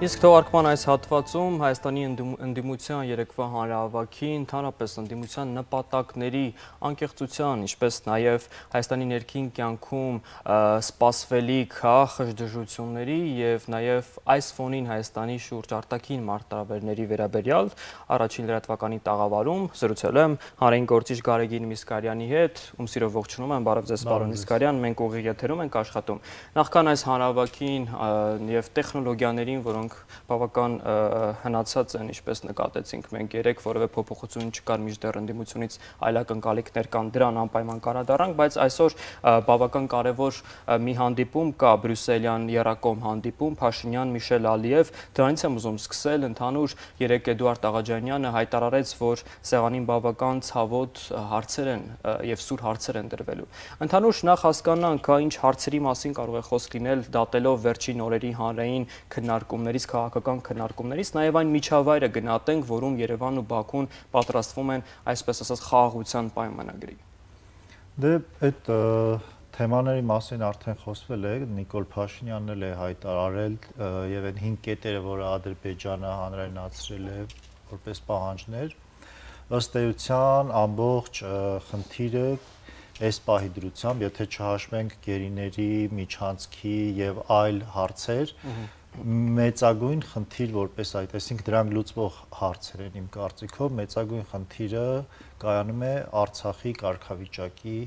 Իսկ թողարկման այս հատվածում Հայաստանի ընդդիմության երեկվա հանրահավաքի, ընդհանրապես ընդդիմության նպատակների անկեղծության, ինչպես նաև Հայաստանի ներքին կյանքում սպասվելիք խժդժությունների և նաև այս ֆոնին Հայաստանի շուրջ արտաքին մարտահրավերների վերաբերյալ առաջին լրատվականի տաղավարում զրուցել եմ հանրային գործիչ Գարեգին Միսկարյանի հետ, ում սիրով ողջունում եմ, բարև ձեզ պարոն Միսկարյան, մենք ուղիղ եթերում ենք աշխատում։ Նախքան այս հանրահավաքին և տեխնոլոգիաներին, որոնք բավական հնացած են, ինչպես նկատեցինք մենք երեք, որևէ փոփոխություն չկար, մինչդեռ ընդդիմությունից այլ ակնկալիքներ կան, դրան անպայման կանդրադառնանք, բայց այսօր բավական կարևոր մի հանդիպում կա, բրյուսելյան եռակողմ հանդիպում, Փաշինյան-Միշել Ալիև, դրանից եմ ուզում սկսել, ընդհանուր երեկ Էդուարդ Աղաջանյանը հայտարարեց, որ սեղանին բավական ցավոտ հարցեր են և սուր հարցեր են դրվելու։ Ընդհանուր նախ հասկանանք, ինչ հարցերի մասին կարող է խոսք լինել, դատելով վերջին օրերի հանրային քննարկումներից, քաղաքական քննարկումներից, նաև այն միջավայրը գնահատենք, որում Երևանն ու Բաքուն պատրաստվում են, այսպես ասած, խաղաղության պայմանագրի։ Դե այդ թեմաների մասին արդեն խոսվել է, Նիկոլ Փաշինյանն էլ է հայտարարել եւ այն 5 կետերը, որը Ադրբեջանը հանրայնացրել է որպես պահանջներ, ըստ էության ամբողջ խնդիրը այս պահի դրությամբ, եթե չհաշվենք գերիների, միջանցքի եւ այլ հարցեր, մեծագույն խնդիր որպես այդ, այսինքն դրանք լուծվող հարցեր են իմ կարծիքով, մեծագույն խնդիրը կայանում է Արցախի կարգավիճակի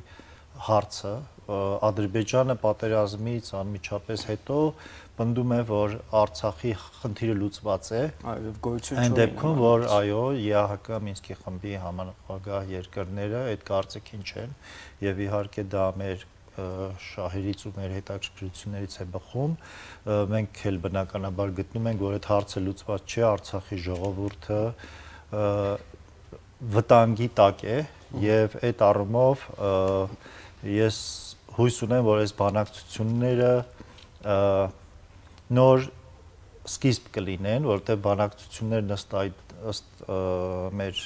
հարցը։ Ադրբեջանը պատերազմից անմիջապես հետո պնդում է, որ Արցախի խնդիրը լուծված է, այն դեպքում, որ այո, ԵԱՀԿ Մինսկի խմբի համանախագահ երկրները այդ կարծիքին չեն, եւ իհարկե դա մեր շահերից ու մեր հետաքրքրություններից է բխում, մենք էլ բնականաբար գտնում ենք, որ այդ հարցը լուծված չէ, Արցախի ժողովուրդը վտանգի տակ է եւ այդ առումով ես հույս ունեմ, որ այս բանակցությունները նոր սկիզբ կլինեն, որտեղ բանակցություններն ըստ մեր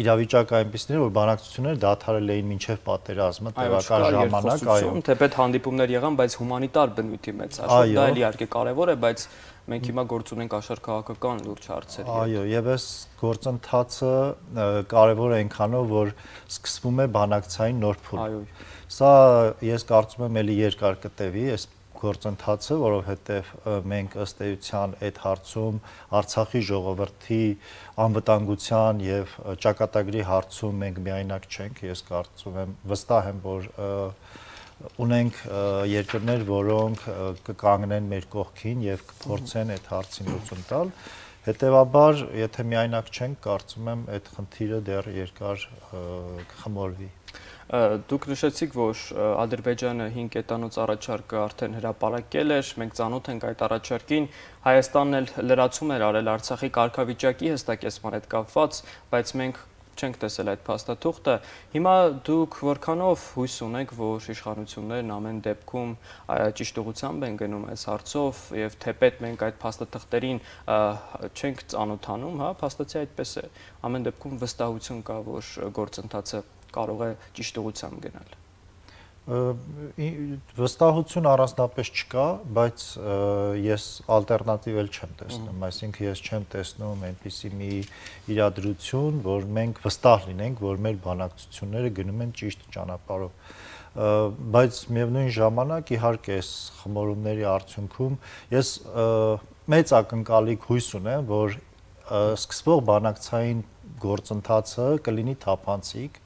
իրավիճակը այնպիսին էր, որ բանակցությունները դադարել էին մինչև պատերազմը, տևական ժամանակ, այո։ Թեպետ հանդիպումներ եղան, բայց հումանիտար բնույթի մեծ հաշվով, դա էլ իհարկե կարևոր է, բայց մենք հիմա գործ ունենք աշխարհ քաղաքական լուրջ հարցերի։ Այո, եւ այս գործընթացը կարևոր է այնքանով, որ սկսվում է բանակցային նոր փուլ։ Այո։ Սա ես կարծում եմ էլի երկար կտևի, այս գործընթացը, որովհետև մենք ըստ էության այդ հարցում Արցախի ժողովրդի անվտանգության եւ ճակատագրի հարցում մենք միայնակ չենք, ես կարծում եմ, վստահ եմ, որ ունենք երկրներ, որոնք կկանգնեն մեր կողքին եւ կփորձեն այդ հարցին լուծում տալ։ Հետևաբար, եթե միայնակ չենք, կարծում եմ, այդ խնդիրը դեռ երկար կխմորվի։ Դուք նշեցիք, որ Ադրբեջանը 5 կետանոց առաջարկը արդեն հրապարակել էր, մենք ծանոթ ենք այդ առաջարկին, Հայաստանն էլ լրացում էր արել Արցախի կարգավիճակի հստակեցման հետ կապված, բայց մենք չենք տեսել այդ փաստաթուղթը։ Հիմա դուք որքանով հույս ունեք, որ իշխանություններն ամեն դեպքում ճիշտ ուղղությամբ են գնում այս հարցով եւ թեպետ մենք այդ փաստաթղթերին չենք ծանոթանում, հա, փաստացի այդպես է։ Ամեն դեպքում վստահություն կա, որ գործընթացը կարող է ճիշտ ուղղությամբ գնալ։ Վստահություն առանձնապես չկա, բայց ես ալտերնատիվ էլ չեմ տեսնում, այսինքն ես չեմ տեսնում այնպիսի մի իրադրություն, որ մենք վստահ լինենք, որ մեր բանակցությունները գնում են ճիշտ ճանապարհով, բայց միևնույն ժամանակ իհարկե այս խմորումների արդյունքում ես մեծ ակնկալիք հույս ունեմ, որ սկսվող բանակցային գործընթացը կլինի թափանցիկ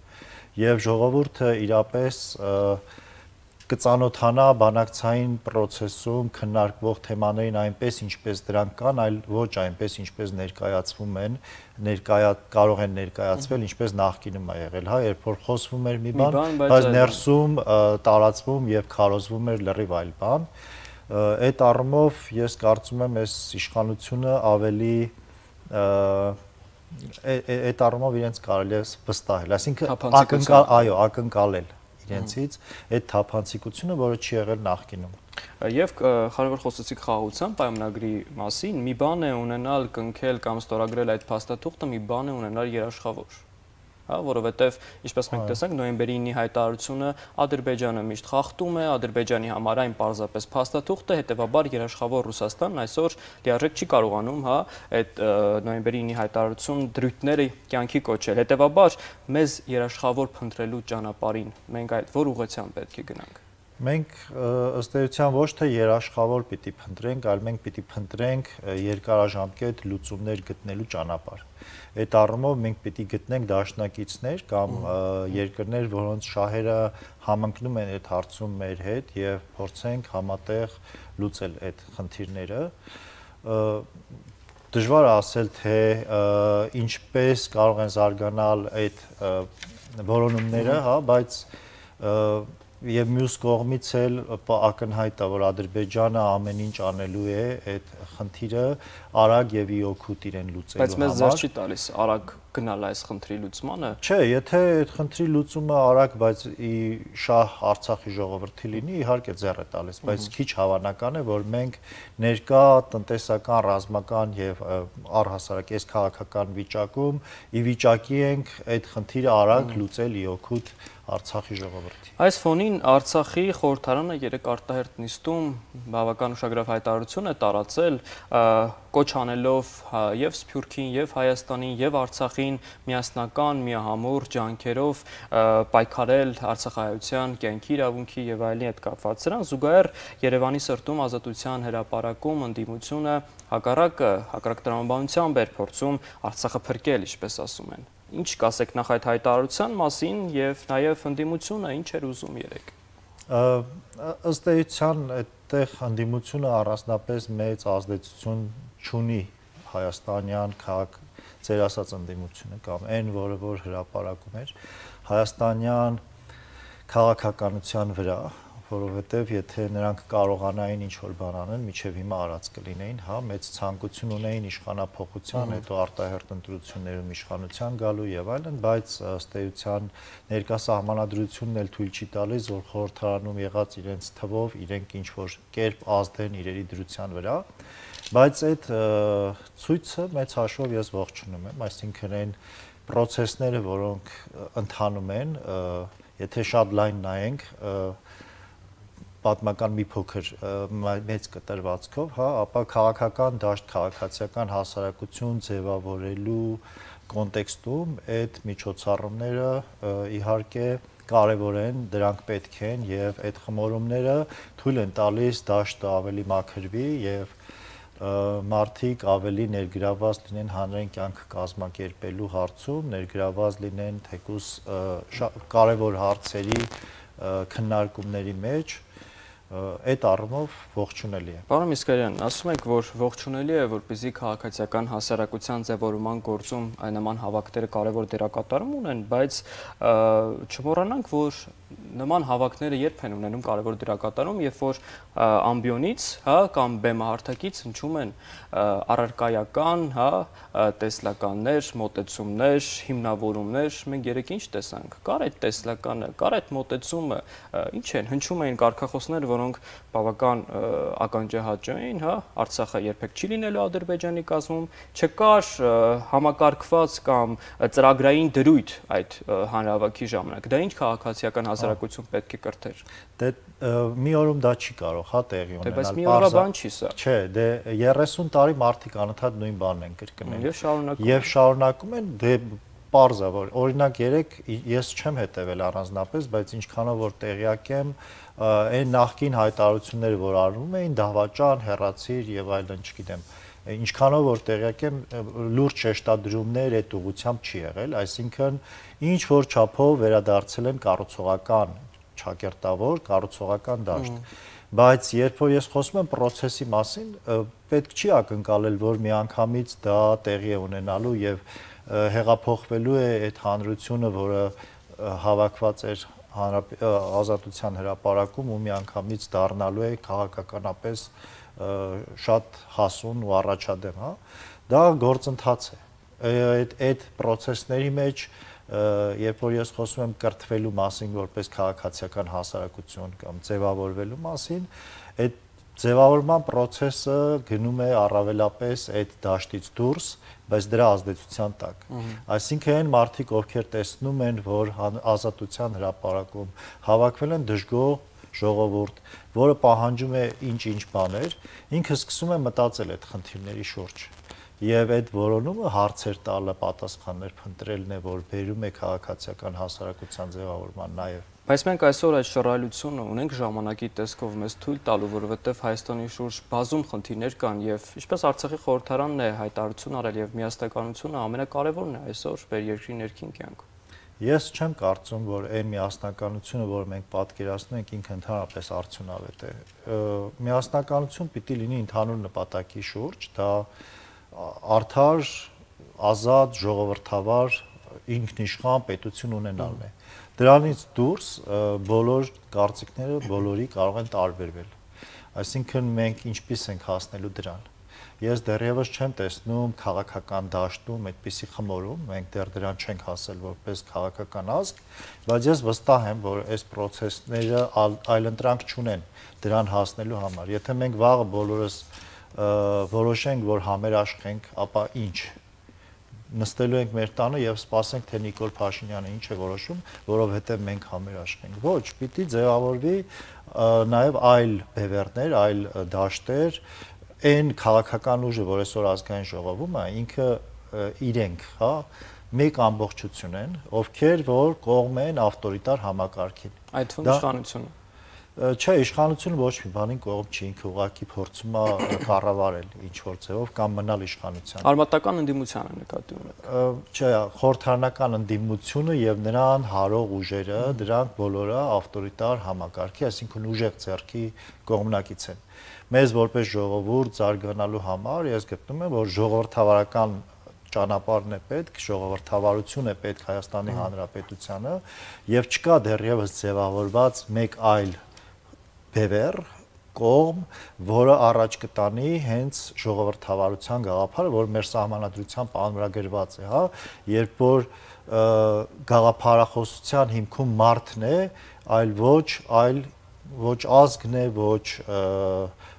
եւ ժողովուրդը իրապես կծանոթանա բանակցային process-ում քննարկվող թեմաներին այնպես, ինչպես դրանք կան, այլ ոչ այնպես, ինչպես ներկայացվում են, կարող են ներկայացվել, ինչպես նախկինում է եղել, հա, երբ որ խոսվում էր մի բան, բայց ներսում տարածվում եւ քարոզվում էր լրիվ այլ բան։ Այդ առումով ես կարծում եմ, այս իշխանությունը ավելի այդ առումով իրենց կարելի է վստահել, այսինքն ակնկալել իրենցից այդ թափանցիկությունը, որը չի եղել նախկինում։ Եվ քանի որ խոսեցիք խաղաղության պայմանագրի մասին, մի բան է ունենալ կնքել կամ ստորագրել այդ փաստաթուղթը, մի բան է ունենալ երաշխավոր։ հա, որովհետև ինչպես մենք տեսանք նոյեմբերի 9-ի հայտարարությունը Ադրբեջանը միշտ խախտում է, Ադրբեջանի համար այն պարզապես փաստաթուղթ է, հետևաբար երաշխավոր Ռուսաստանն այսօր լիարժեք չի կարողանում, հա, այդ նոյեմբերի 9-ի հայտարարություն դրույթները կյանքի կոչել։ Հետևաբար մեզ երաշխավոր փնտրելու ճանապարհին մենք այդ որ ուղղությամբ պետք է գնանք։ Մենք ըստ էության ոչ թե երաշխավոր պիտի փնտրենք, այլ մենք պիտի փնտրենք երկարաժամկետ լուծումներ գտնելու ճանապարհ։ Այդ առումով մենք պիտի գտնենք դաշնակիցներ կամ երկրներ, որոնց շահերը համընկնում են այդ հարցում մեր հետ եւ փորձենք համատեղ լուծել այդ խնդիրները։ Դժվար է ասել, թե ինչպես կարող են զարգանալ այդ որոնումները, հա, բայց եւ մյուս կողմից էլ ակնհայտ է, որ Ադրբեջանը ամեն ինչ անելու է այդ խնդիրը արագ եւ իօգուտ իրեն լուծելու համար։ Բայց մեզ ձեռ չի տալիս արագ գնալ այս խնդրի լուծմանը։ Չէ, եթե այդ խնդրի լուծումը արագ, բայց շահ Արցախի ժողովրդի լինի, իհարկե ձեռ է տալիս, բայց քիչ հավանական է, որ մենք ներկա տնտեսական, ռազմական եւ առհասարակ այս քաղաքական վիճակում ի վիճակի ենք այդ խնդիրը արագ լուծել իօգուտ Արցախի ժողովրդի։ Այս ֆոնին Արցախի խորհրդարանը երեք արտահերթ նիստում բավական ուշագրավ հայտարարություն է տարածել, կոչ անելով եւ Սփյուռքին, եւ Հայաստանին, եւ Արցախին միասնական, միահամուռ ջանքերով պայքարել արցախահայության կյանքի իրավունքի եւ այլնի հետ կապված։ Սրան զուգահեռ Երևանի սրտում Ազատության հրապարակում ընդդիմությունը հակառակ տրամաբանությամբ էր փորձում Արցախը փրկել, ինչպես ասում են։ Ինչ կասեք նախ այդ հայտարարության մասին եւ նաեւ ընդդիմությունը ինչ էր ուզում երեք։ Ըստ էության այդտեղ ընդդիմությունը առանձնապես մեծ ազդեցություն չունի հայաստանյան քաղաք ձեր ասած ընդդիմությունը կամ այն, որ հրապարակում էր հայաստանյան քաղաքականության վրա, որովհետև եթե նրանք կարողանային ինչ-որ բան անեն, միջև հիմա արած կլինեին, հա, մեծ ցանկություն ունեին իշխանափոխության, հետո արտահերթ ընտրություններում իշխանության գալու եւ այլն, բայց ըստ էության ներկա սահմանադրությունն էլ թույլ չի տալիս, որ խորհրդարանում եղած իրենց թվով իրենք ինչ-որ կերպ ազդեն իրերի դրության վրա, բայց այդ ցույցը մեծ հաշվով ես ողջունում եմ, այսինքն այն process-ները, որոնք ընթանում են, եթե շատ լայն նայենք, պատմական մի փոքր մեծ կտրվածքով, հա, ապա քաղաքական դաշտ, քաղաքացիական հասարակություն ձևավորելու կոնտեքստում այդ միջոցառումները իհարկե կարևոր են, դրանք պետք են եւ այդ խմորումները թույլ են տալիս դաշտը ավելի մաքրվի եւ մարդիկ ավելի ներգրաված լինեն հանրային կյանքը կազմակերպելու հարցում, ներգրաված լինեն թեկուզ կարևոր հարցերի քննարկումների մեջ, այդ առումով ողջունելի է։ Պարոն Միսկարյան, ասում եք, որ ողջունելի է, որպեսզի քաղաքացիական հասարակության ձևավորման գործում նման հավաքները կարևոր դերակատարում ունեն, բայց չմոռանանք, որ նման հավաքները երբ են ունենում կարևոր դերակատարում, երբ որ ամբիոնից, հա, կամ բեմահարթակից հնչում են առարկայական, հա, տեսլականներ, մոտեցումներ, հիմնավորումներ, մենք երեք ինչ տեսանք, կար այդ տեսլականը, կար այդ մոտեցումը, ինչ են, հնչում էին կարգախոսներ, որոնք բավական ականջահաճ էին, հա, Արցախը երբեք չի լինելու Ադրբեջանի կազմում, չկար համակարգված կամ ծրագրային դրույթ այդ հանրահավաքի ժամանակ։ Դա ինչ քաղաքացիական հասարակություն պետք է կրթեր։ Դե մի օրում դա չի կարող, հա, տեղի ունենալ։ Բայց մի օրա բան չի սա։ Չէ, դե 30 տարի մարդիկ անընդհատ նույն բանն են կրկնել։ Եվ շարունակում են, դե պարզ է, որ օրինակ երեք ես չեմ հետևել առանձնապես, բայց ինչքանով որ տեղյակ եմ, այն նախկին հայտարարությունները, որ արվում էին, դավաճան, հեռացիր եւ այլն, չգիտեմ, ինչքանով որ տեղյակ եմ, լուրջ շեշտադրումներ այդ ուղղությամբ չի եղել, այսինքն ինչ որ չափով վերադարձել են կառուցողական ճակերտավոր, կառուցողական դաշտ։ Բայց երբ որ ես խոսում եմ process-ի մասին, պետք չի ակնկալել, որ միանգամից դա տեղի է ունենալու եւ հեղափոխվելու է այդ հանրությունը, որը հավաքված էր Ազատության հրապարակում ու միանգամից դառնալու է քաղաքականապես շատ հասուն ու առաջադեմ, հա, դա գործընթաց է։ Այդ process-ների մեջ, երբ որ ես խոսում եմ կրթվելու մասին որպես քաղաքացիական հասարակություն կամ ձևավորվելու մասին, այդ ձևավորման process-ը գնում է առավելապես այդ դաշտից դուրս, բայց դրա ազդեցության տակ։ Այսինքն այն մարդիկ, ովքեր տեսնում են, որ ազատության հրապարակում հավաքվել են դժգոհ ժողովուրդ, որը պահանջում է ինչ-ինչ բաներ, ինքը սկսում է մտածել այդ խնդիրների շուրջ։ Եվ այդ որոնումը հարցեր տալը, պատասխաններ փնտրելն է, որ բերում է քաղաքացիական հասարակության ձևավորման նաև։ Բայց մենք այսօր այդ շռայլությունը ունենք ժամանակի տեսքով մեզ թույլ տալու, որովհետև Հայաստանի շուրջ բազում խնդիրներ կան եւ ինչպես Արցախի խորհրդարանն է հայտարարություն արել եւ միասնականությունը ամենակարևորն է այսօր մեր երկրի ներքին կյանքում։ Ես չեմ կարծում, որ այն միասնականությունը, որ մենք պատկերացնում ենք, ինքը ընդհանրապես արդյունավետ է։ Միասնականություն պիտի լինի ընդհանուր նպատակի շուրջ, դա արդար, ազատ, ժողովրդավար, ինքնիշխան պետություն ունենալն է։ Դրանից դուրս բոլոր կարծիքները բոլորի կարող են տարբերվել։ Այսինքն մենք ինչպես ենք հասնելու դրան։ Ես դեռևս չեմ տեսնում քաղաքական դաշտում այդպիսի խմորում, մենք դեռ դրան չենք հասել որպես քաղաքական ազգ, բայց ես վստահ եմ, որ այս process-ները այլընտրանք չունեն դրան հասնելու համար։ Եթե մենք վաղը բոլորս որոշենք, որ համերաշխենք, ապա ինչ։ Նստելու ենք մեր տանը եւ սպասենք, թե Նիկոլ Փաշինյանը ինչ է որոշում, որովհետեւ մենք համերաշխենք։ Ոչ, պիտի ձևավորվի նաեւ այլ բևեռներ, այլ դաշտեր, այն քաղաքական ուժը, որ այսօր ազգային ժողովում է, ինքը իրենք, հա, մեկ ամբողջություն են, ովքեր որ կողմ են ավտորիտար համակարգին։ Այդ թվում իշխանությունը։ Չէ, իշխանությունը ոչ մի բանին կողմ չի, ինքը ուղղակի փորձում է կառավարել ինչ որ ձևով կամ մնալ իշխանության։ Արմատական ընդդիմությանը նկատի ունեք։ Չէ, խորհրդարանական ընդդիմությունը եւ նրան հարող ուժերը, դրանք բոլորը ավտորիտար համակարգի, այսինքն ուժեղ ձեռքի կողմնակից են։ Մեզ որպես ժողովուրդ զարգանալու համար ես գտնում եմ, որ ժողովրդավարական ճանապարհն է պետք, ժողովրդավարություն է պետք Հայաստանի Հանրապետությանը եւ չկա դեռևս ձևավորված մեկ այլ բևեռ կողմ, որը առաջ կտանի հենց ժողովրդավարության գաղափարը, որ մեր սահմանադրությամբ անվրագրված է, հա, երբ որ գաղափարախոսության հիմքում մարդն է, այլ ոչ ազգն է, ոչ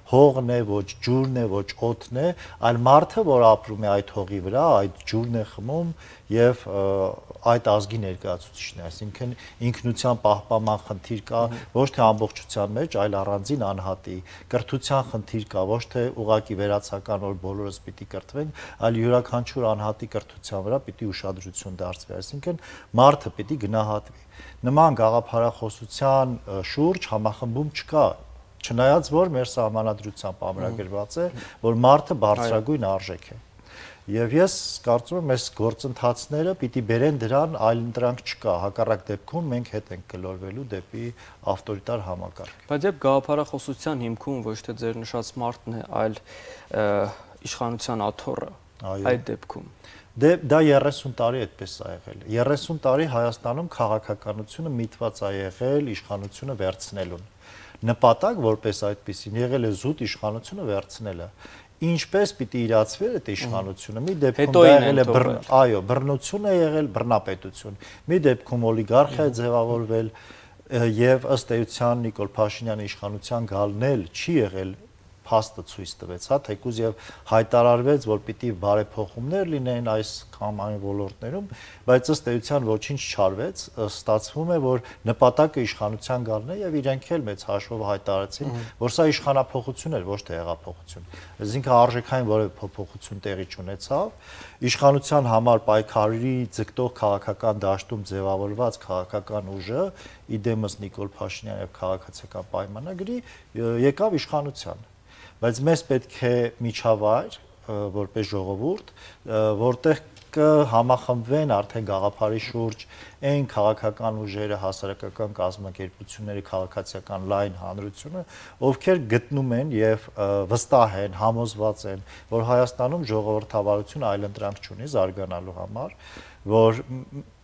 հողն է, ոչ ջուրն է, ոչ օդն է, այլ մարդը, որ ապրում է այդ հողի վրա, այդ ջուրն է խմում եւ այդ ազգի ներկայացուցիչն է, այսինքն ինքնության պահպանման խնդիր կա ոչ թե ամբողջության մեջ, այլ առանձին անհատի, կրթության խնդիր կա, ոչ թե ուղակի վերացական, որ բոլորս պիտի կրթվենք, այլ յուրաքանչյուր անհատի կրթության վրա պիտի ուշադրություն դարձվի, այսինքն մարդը պիտի գնահատվի։ Նման գաղափարախոսության շուրջ համախմբում չկա, չնայած որ մեր սահմանադրությամբ ամրագրված է, որ մարդը բարձրագույն արժեք է։ Եվ ես կարծում եմ, այս գործընթացները պիտի բերեն դրան, այլ ընտրանք չկա, հակառակ դեպքում մենք հետ ենք գլորվելու դեպի ավտորիտար համակարգ։ Բայց երբ գաղափարախոսության հիմքում ոչ թե ձեր նշած մարդն է, այլ իշխանության աթոռը, այդ դեպքում դա 30 տարի այդպես է եղել։ 30 տարի Հայաստանում քաղաքականությունը միտված է եղել իշխանությունը վերցնելուն։ Նպատակ որպես այդպեսին եղել է զուտ իշխանությունը վերցնելը։ Ինչպես պիտի իրացվեր այդ իշխանությունը։ Մի դեպքում դա եղել է այո, բռնություն է եղել, բռնապետություն։ Մի դեպքում օլիգարխիա է ձևավորվել եւ ըստ էության Նիկոլ Փաշինյանի իշխանության գալն էլ չի եղել փաստը ցույց տվեց, հա, թեկուզ եւ հայտարարվեց, որ պիտի բարեփոխումներ լինեն այս կամ այն ոլորտներում, բայց ըստ էության ոչինչ չարվեց, ստացվում է, որ նպատակը իշխանության գալն է եւ իրենք էլ մեծ հաշվով հայտարարեցին, որ սա իշխանափոխություն էր, ոչ թե հեղափոխություն։ Այսինքն արժեքային որևէ փոփոխություն տեղի չունեցավ, իշխանության համար պայքարի ձգտող քաղաքական դաշտում ձևավորված քաղաքական ուժը, իդեմս Նիկոլ Փաշինյանի եւ քաղաքացիական պայմանագրի եկավ իշխանության։ Բայց մեզ պետք է միջավայր, որպես ժողովուրդ, որտեղ կհամախմբվեն արդեն գաղափարի շուրջ այն քաղաքական ուժերը, հասարակական կազմակերպությունները, քաղաքացիական լայն հանրությունը, ովքեր գտնում են եւ վստահ են, համոզված են, որ Հայաստանում ժողովրդավարությունը այլընտրանք չունի զարգանալու համար, որ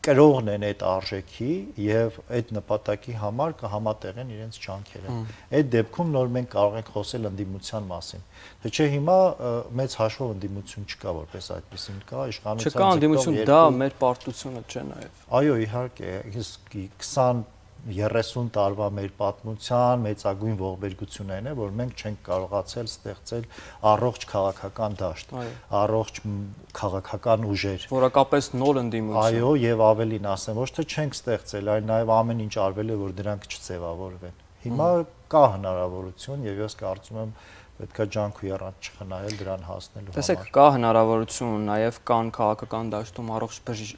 կրողն են այդ արժեքի եւ այդ նպատակի համար կհամատեղեն իրենց ջանքերը։ Այդ դեպքում նոր մենք կարող ենք խոսել ընդդիմության մասին։ Թե չէ հիմա մեծ հաշվով ընդդիմություն չկա, որպես այդպեսին կա իշխանության չկա ընդդիմություն, դա մեր պարտությունը չէ նաեւ։ Այո, իհարկե, 20 30 տարվա մեր պատմության մեծագույն ողբերգություններն է, որ մենք չենք կարողացել ստեղծել առողջ քաղաքական դաշտ, առողջ քաղաքական ուժեր, որակապես նոր ընդդիմություն։ Այո, եւ ավելին ասեմ, ոչ թե չենք ստեղծել, այլ նաեւ ամեն ինչ արվել է, որ դրանք չձևավորվեն։ Հիմա կա հնարավորություն եւ ես կարծում եմ պետքա ջանք ու եռանց չխնայել դրան հասնելու համար։ Տեսեք, կա հնարավորություն, նաև կան քաղաքական դաշտում առողջ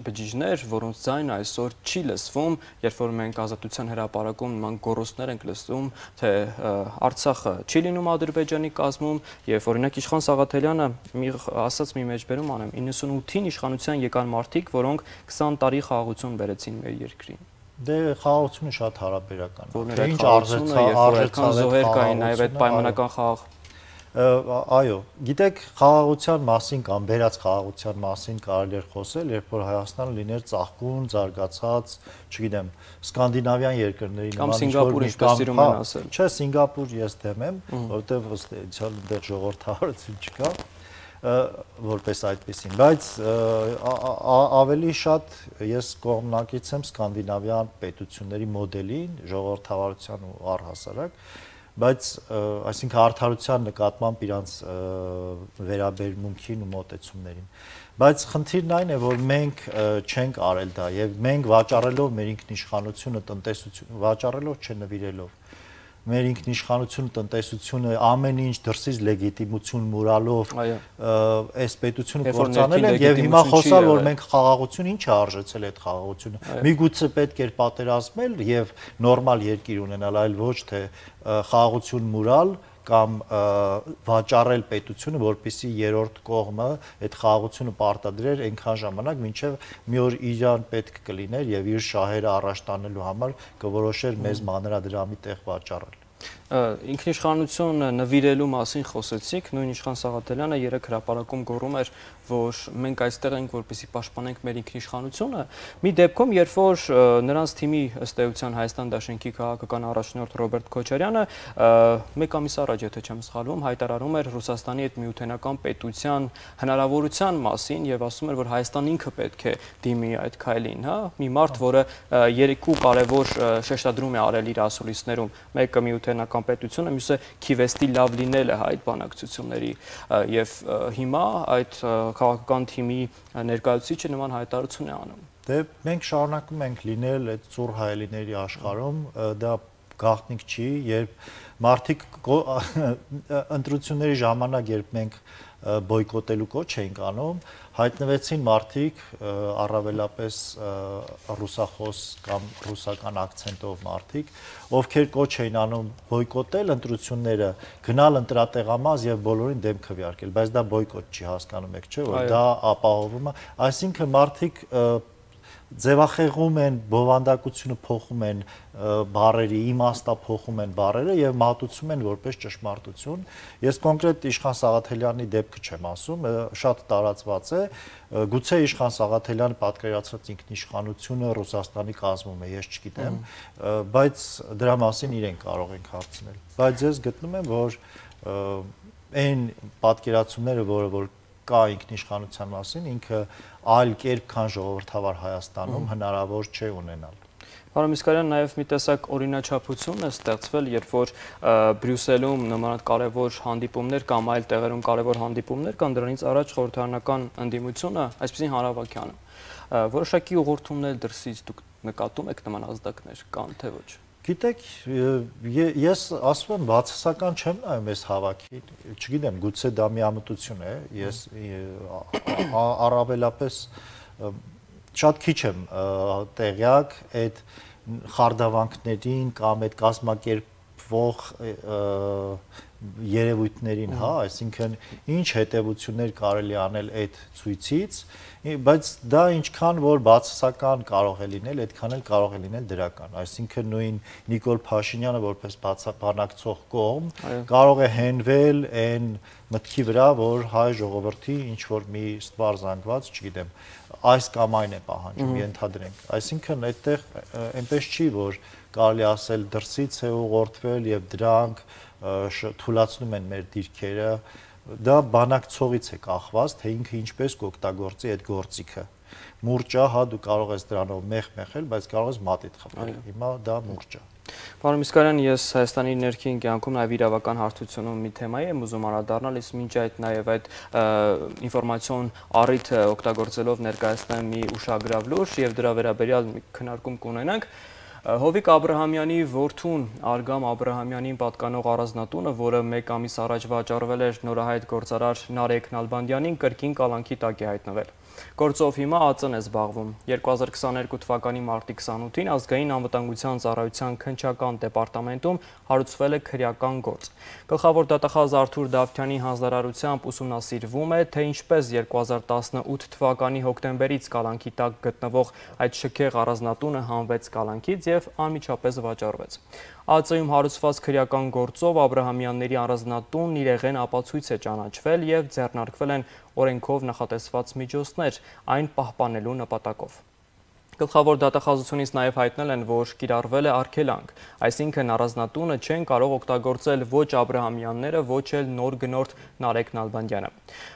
բջիջներ, որոնց ձայնը այսօր չի լսվում, երբ որ մենք Ազատության հրապարակում նման գոռոցներ ենք լսում, թե Արցախը չի լինում Ադրբեջանի կազմում, եւ օրինակ Իշխան Սաղաթելյանը ասաց մի մեջբերում անեմ, 98-ին իշխանության եկան մարդիկ, որոնք 20 տարի խաղաղություն բերեցին մեր երկրին։ Դե խաղաղությունը շատ հարաբերական է։ Ինչ արժեցավ զոհեր կային, նաև այդ պայմանական խաղաղ։ Այո, գիտեք, խաղաղության մասին կամ վերած խաղաղության մասին կարելի է խոսել, երբ որ Հայաստանը լիներ ծաղկուն, զարգացած, չգիտեմ, սկանդինավյան երկրների նման կամ Սինգապուրը, ինչպես սիրում են ասել։ Չէ, Սինգապուր ես դեմ եմ, որովհետև ըստ էության այնտեղ ժողովրդավարություն չկա, որպես այդպեսին, բայց ավելի շատ ես կողմնակից եմ սկանդինավյան պետությունների մոդելին, ժողովրդավարության ու առհասարակ, բայց այսինքն արդարության նկատմամբ իրանց վերաբերմունքին ու մոտեցումներին։ Բայց խնդիրն այն է, որ մենք չենք արել դա եւ մենք վաճառելով մեր ինքնիշխանությունը, տնտեսությունը, վաճառելով չնվիրելով մեր ինքնիշխանությունը, տնտեսությունը, ամեն ինչ դրսից լեգիտիմություն մուրալով այս պետությունը կործանել են եւ հիմա խոսալ, որ մենք խաղաղություն ինչ է արժեցել այդ խաղաղությունը։ Միգուցե պետք էր պատերազմել եւ նորմալ երկիր ունենալ, այլ ոչ թե խաղաղություն մուրալ կամ վաճառել պետությունը, որպեսզի երրորդ կողմը այդ խաղաղությունը պարտադրեր այնքան ժամանակ, մինչև մի օր իրան պետք կլիներ եւ իր շահերը առաջ տանելու համար կորոշեր մեզ մանրադրամի տեղ վաճառել։ Ինքնիշխանություն նվիրելու մասին խոսեցիք, նույն Իշխան Սաղաթելյանը երեք հրապարակում գոռում էր, որ մենք այստեղ ենք, որպեսզի պաշտպանենք մեր ինքնիշխանությունը։ Մի դեպքում, երբ որ նրանց թիմի ըստ էության Հայաստան Դաշնքի քաղաքական առաջնորդ Ռոբերտ Քոչարյանը մեկ ամիս առաջ, եթե չեմ սխալվում, հայտարարում էր Ռուսաստանի հետ միութենական պետության հնարավորության մասին եւ ասում էր, որ Հայաստան ինքը պետք է դիմի այդ քայլին, հա։ Մի մարդ, որը երկու կարևոր շեշտադրում է արել իր ասուլիսներում, մեկը միութենական պետությունը, մյուսը Քիվեստի լավ լինելը այդ բանակցությունների եւ հիմա այդ քաղաքական թիմի ներկայացուցիչը նման հայտարարություն է անում։ Դե մենք շարունակում ենք լինել այդ ծուռ հայելիների աշխարհում, դա գաղտնիք չի, երբ մարդիկ ընտրությունների ժամանակ, երբ մենք բոյկոտելու կոչ էինք անում, հայտնվեցին մարդիկ, առավելապես ռուսախոս կամ ռուսական ակցենտով մարդիկ, ովքեր կոչ էին անում բոյկոտել ընտրությունները, գնալ ընտրատեղամաս եւ բոլորին դեմ քվեարկել, բայց դա բոյկոտ չի, հասկանում եք, չէ՞, որ դա ապահովում է, այսինքն մարդիկ ձևախեղում են, բովանդակությունը փոխում են բառերի, իմաստը փոխում են բառերը եւ մատուցում են որպես ճշմարտություն։ Ես կոնկրետ Իշխան Սաղաթելյանի դեպքը չեմ ասում, շատ տարածված է, գուցե Իշխան Սաղաթելյանը պատկերացրած ինքնիշխանությունը Ռուսաստանի կազմում է, ես չգիտեմ, բայց դրա մասին իրեն կարող ենք հարցնել։ Բայց ես գտնում եմ, որ այն պատկերացումները, որ կա ինքնիշխանության մասին, ինքը այլ կերպ քան ժողովրդավար Հայաստանում հնարավոր չէ ունենալ։ Պարոն Միսկարյան, նաև մի տեսակ օրինաչափություն է ստեղծվել, երբ որ Բրյուսելում նման կարևոր հանդիպումներ կամ այլ տեղերում կարևոր հանդիպումներ կան, դրանից առաջ խորհրդարանական ընդդիմությունը, այսպեսին Հանրապետականը, որոշակի ուղղորդումներ դրսից դուք նկատում եք նման ազդակներ կան, թե ոչ։ Գիտեք, ես ասում եմ բացասական չեմ նայում այս հավաքին, չգիտեմ, գուցե դա միամտություն է, ես առավելապես շատ քիչ եմ տեղյակ այդ խարդավանքներին կամ այդ կազմակերպվող երևույթներին, հա, այսինքն ինչ հետևություններ կարելի անել այդ ցույցից, բայց դա ինչքան որ բացասական կարող է լինել, այդքան էլ կարող է լինել դրական, այսինքն նույն Նիկոլ Փաշինյանը որպես բանակցող կողմ կարող է հենվել այն մտքի վրա, որ հայ ժողովրդի ինչ որ մի ստվար զանգված, չգիտեմ, այս կամ այն է պահանջում, ենթադրենք, այսինքն այդտեղ այնպես չի, որ կարելի ասել դրսից է ուղղորդվել եւ դրանք թույլատնում են մեր դիրքերը, դա բանակցողից է կախված, թե ինքը ինչպես կօգտագործի այդ գործիքը։ Մուրճա, հա դու կարող ես դրանով մեղ մեղել, բայց կարող ես մատիտ խփել։ Հիմա դա մուրճ է։ Պարոն Միսկարյան, ես Հայաստանի ներքին կյանքում նաև իրավական հարթությունում մի թեմայի եմ ուզում անդրադառնալ, իսկ մինչ այդ նաև այդ ինֆորմացիոն առիթը օգտագործելով ներկայացնեմ մի ուշագրավ լուր եւ դրա վերաբերյալ մի քննարկում կունենանք։ Հովիկ Աբրահամյանի որդուն Արգամ Աբրահամյանին պատկանող առանձնատունը, որը 1 ամիս առաջ վաճառվել էր նորահայտ գործարար Նարեկ Նալբանդյանին, կրկին կալանքի տակ է հայտնվել։ Գործով հիմա ԱԾ-ն է զբաղվում։ 2022 թվականի մարտի 28-ին ազգային անվտանգության ծառայության քննչական դեպարտամենտում հարուցվել է քրեական գործ։ Գլխավոր դատախազ Արթուր Դավթյանի հանձնարարությամբ ուսումնասիրվում է, թե ինչպես 2018 թվականի հոկտեմբերից կալանքի տակ գտնվող այդ շքեղ առանձնատունը հանվեց կալանքից եւ անմիջապես վաճառվեց։ ԱԾ-ում հարուցված քրեական գործով Աբրահամյանների առանձնատունն իրեղեն ապացույց է ճանաչվել եւ ձեռնարկվել են օրենքով նախատեսված միջոցներ այն պահպանելու նպատակով։ Գլխավոր դատախազությունից նաև հայտնել են, որ կիրառվել է արգելանք, այսինքն առանձնատունը չեն կարող օգտագործել ոչ Աբրահամյանները, ոչ էլ նոր գնորդ Նարեկ Նալբանդյանը։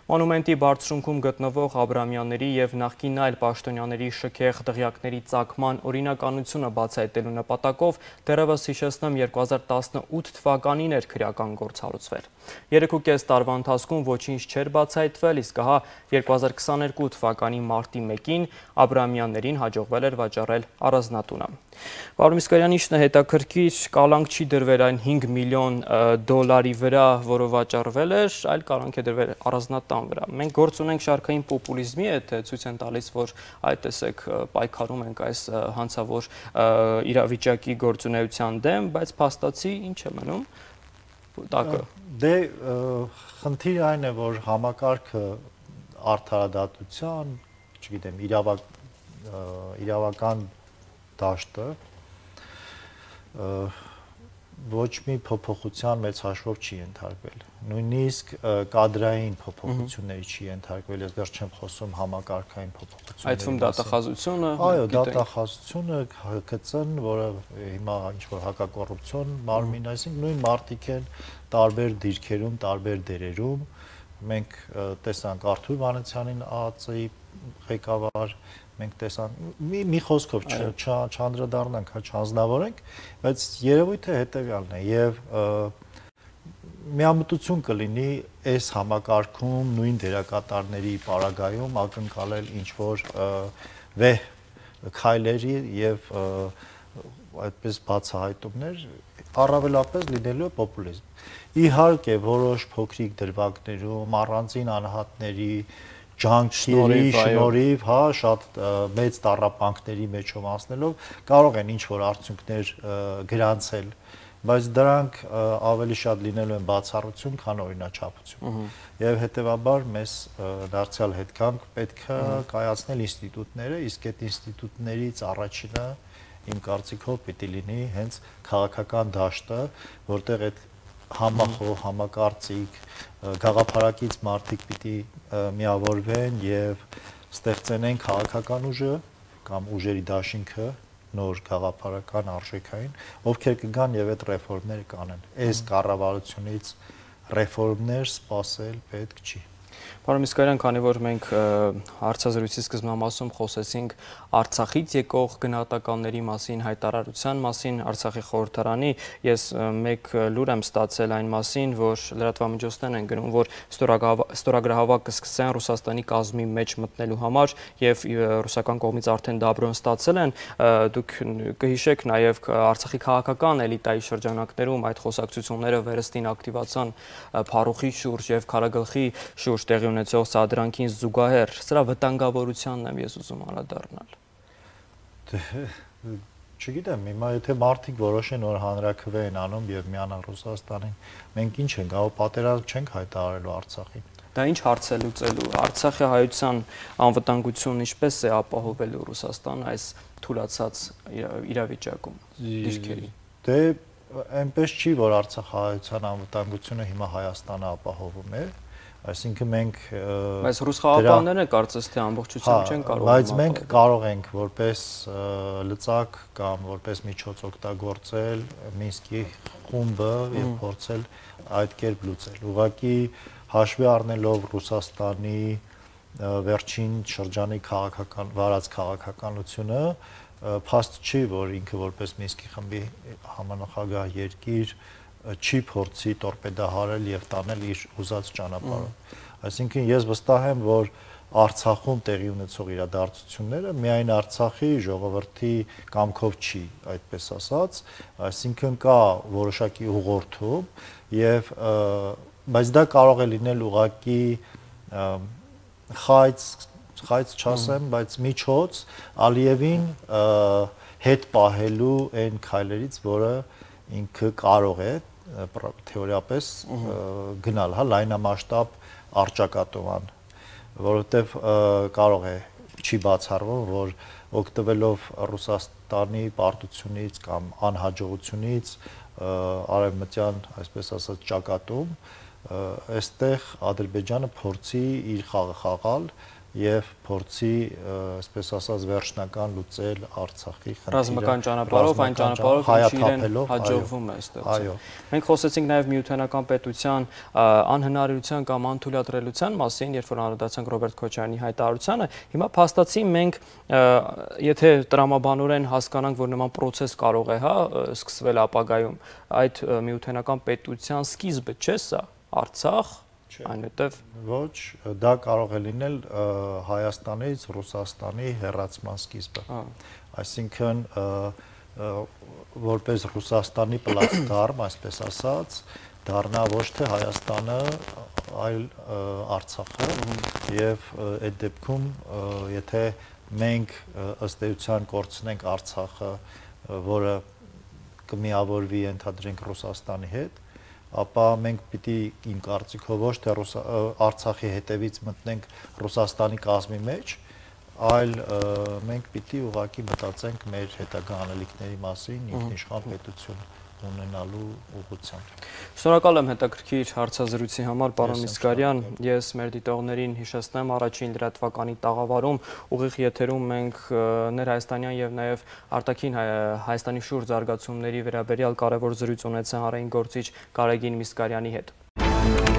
Մոնումենտի բարձրունքում գտնվող Աբրահամյանների եւ նախկին այլ պաշտոնյաների շքեղ դղյակների ծագման օրինականությունը բացահայտելու նպատակով դեռևս հիշեցնեմ 2018 թվականին էր քրեական գործ հարուցվել։ 3.5 տարվա ընթացքում ոչինչ չէր բացահայտվել, իսկ ահա 2022 թվականի մարտի 1-ին Աբրահամյաններին հաջողվել էր վաճառել առանձնատունը։ Պարոն Միսկարյան, ինչն է հետաքրքիր, կալանք չի դրվել այն 5 միլիոն դոլարի վրա, որը վաճառվել էր, այլ կալանք է դրվել առանձնատան վրա։ Մենք գործ ունենք շարքային պոպուլիզմի հետ, ցույց են տալիս, որ այդ տեսեք պայքարում ենք այս հանցավոր իրավիճակի գործունեության դեմ, բայց փաստացի ինչ է մնում տակը։ Դե խնդիրը այն է, որ համակարգը արդարադատության, չգիտեմ, իրավական դաշտը ոչ մի փոփոխության մեծ հաշվով չի ենթարկվել։ Նույնիսկ կադրային փոփոխությունների չի ենթարկվել, ես դեռ չեմ խոսում համակարգային փոփոխությունների։ Այդ թվում դատախազությունը, այո, դատախազությունը, ՀԿՑ-ն, որը հիմա ինչ-որ հակակոռուպցիոն մարմին, այսինքն նույն մարդիկ են տարբեր դիրքերում, տարբեր դերերում։ Մենք տեսանք Արթուր Վանեցյանին ԱԱԾ-ի ղեկավար, մենք տեսանք մի խոսքով չանդրադառնանք, չանձնավորենք, բայց երևույթը հետևյալն է եւ միամտություն կլինի այս համակարգում նույն դերակատարների պարագայում ակնկալել ինչ որ վեհ քայլերի եւ այդպես բացահայտումներ, առավելապես լինելու է պոպուլիզմ։ Իհարկե, որոշ փոքրիկ դրվագներում առանձին անհատների ջանքերի շնորհիվ, հա, շատ մեծ տառապանքների մեջով անցնելով կարող են ինչ-որ արդյունքներ գրանցել, բայց դրանք ավելի շատ լինելու են բացառություն, քան օրինաչափություն։ Եվ հետեւաբար մեզ դարձյալ հետքանք պետք է կայացնել ինստիտուտները, իսկ այդ ինստիտուտներից առաջինը իմ կարծիքով պիտի լինի հենց քաղաքական դաշտը, որտեղ այդ համախոհ, համակարծիք, գաղափարակից մարդիկ պիտի միավորվեն եւ ստեղծեն քաղաքական ուժը կամ ուժերի դաշինքը, նոր գաղափարական արժեքային, ովքեր կգան եւ այդ ռեֆորմները կանեն։ Այս կառավարությունից ռեֆորմներ սպասել պետք չի։ Պարոն Միսկարյան, քանի որ մենք հարցազրույցի սկզբնամասում խոսեցինք Արցախից եկող գնահատականների մասին, հայտարարության մասին, Արցախի խորհրդարանի, ես մեկ լուր եմ ստացել այն մասին, որ լրատվամիջոցներն են գրում, որ ստորագրահավաք կսկսեն Ռուսաստանի կազմի մեջ մտնելու համար եւ ռուսական կողմից արդեն դաբրոն ստացել են, դուք կհիշեք նաեւ Արցախի քաղաքական էլիտայի շրջանակներում այդ խոսակցությունները վերստին ակտիվացան Փարուխի շուրջ եւ Քարագլխի շուրջ տեղի ունեցող սադրանքին զուգահեռ, սրա վտանգավորությանն եմ ես ուզում անդրադառնալ։ Չգիտեմ, հիմա եթե մարդիկ որոշեն, որ հանրաքվե են անում եւ միանան Ռուսաստանին, մենք ինչ ենք, գաղ պատերազմ չենք հայտարարելու Արցախին։ Դա ինչ հարց է լուծելու։ Արցախի հայության անվտանգությունն ինչպես է ապահովելու Ռուսաստան այս թուլացած իրավիճակում դիրքերի։ Դե այնպես չի, որ Արցախի հայության անվտանգությունը հիմա Հայաստանը ապահովում է։ Այսինքն մենք Բայց ռուս խաղաղապահները կարծես թե ամբողջությամբ չեն կարող։ Բայց մենք կարող ենք որպես լծակ կամ որպես միջոց օգտագործել Մինսկի խումբը եւ փորձել այդ կերպ լուծել։ Ուղղակի հաշվի առնելով Ռուսաստանի վերջին շրջանի վարած քաղաքականությունը փաստ չի, որ ինքը որպես Մինսկի խմբի համանախագահ երկիր չի փորձի տորպեդահարել եւ տանել իր ուզած ճանապարհով։ Այսինքն ես վստահ եմ, որ Արցախում տեղի ունեցող իրադարձությունները միայն Արցախի ժողովրդի կամքով չի, այդպես ասած, այսինքն կա որոշակի ուղղորդում եւ բայց դա կարող է լինել ուղղակի խայծ չասեմ, բայց միջոց Ալիևին հետ պահելու այն քայլերից, որը ինքը կարող է թեորիապես գնալ, հա, լայնամասշտաբ առճակատման, որովհետև կարող է չի բացառվում, որ օգտվելով Ռուսաստանի պարտությունից կամ անհաջողությունից արևմտյան, այսպես ասած, ճակատում, այստեղ Ադրբեջանը փորձի իր խաղը խաղալ եւ փորձի, այսպես ասած, վերջնական լուծել Արցախի խնդիրը ռազմական ճանապարհով, այն ճանապարհով, ինչը իրեն հաջողվում է այստեղ։ Այո։ Մենք խոսեցինք նաեւ միութենական պետության անհնարինության կամ անթույլատրելիության մասին, երբ որ անդրադարձանք Ռոբերտ Քոչարյանի հայտարարությանը, հիմա փաստացի մենք եթե տրամաբանորեն հասկանանք, որ նման process կարող է, հա, սկսվել ապագայում, այդ միութենական պետության սկիզբը չէ սա, Արցախ այնուհետև ոչ, դա կարող է լինել Հայաստանից Ռուսաստանի հեռացման սկիզբը։ Այսինքն որպես Ռուսաստանի պլացդարմ, այսպես ասած, դառնա ոչ թե Հայաստանը, այլ Արցախը եւ այդ դեպքում եթե մենք ըստ էության կորցնենք Արցախը, որը կմիավորվի ընդհանրենք Ռուսաստանի հետ, ապա մենք պիտի իմ կարծիքով ոչ թե Արցախի հետևից մտնենք Ռուսաստանի կազմի մեջ, այլ մենք պիտի ուղղակի մտածենք մեր հետագա անելիքների մասին, ինքնիշխան պետություն ունենալու ուղղությամբ։ Շնորհակալ եմ հետաքրքիր հարցազրույցի համար, պարոն Միսկարյան, ես մեր դիտողներին հիշեցնեմ առաջին լրատվականի տաղավարում ուղիղ եթերում մենք ներհայաստանյան եւ նաեւ արտաքին Հայաստանի շուրջ զարգացումների վերաբերյալ կարևոր զրույց ունեցանք հանրային գործիչ Գարեգին Միսկարյանի հետ։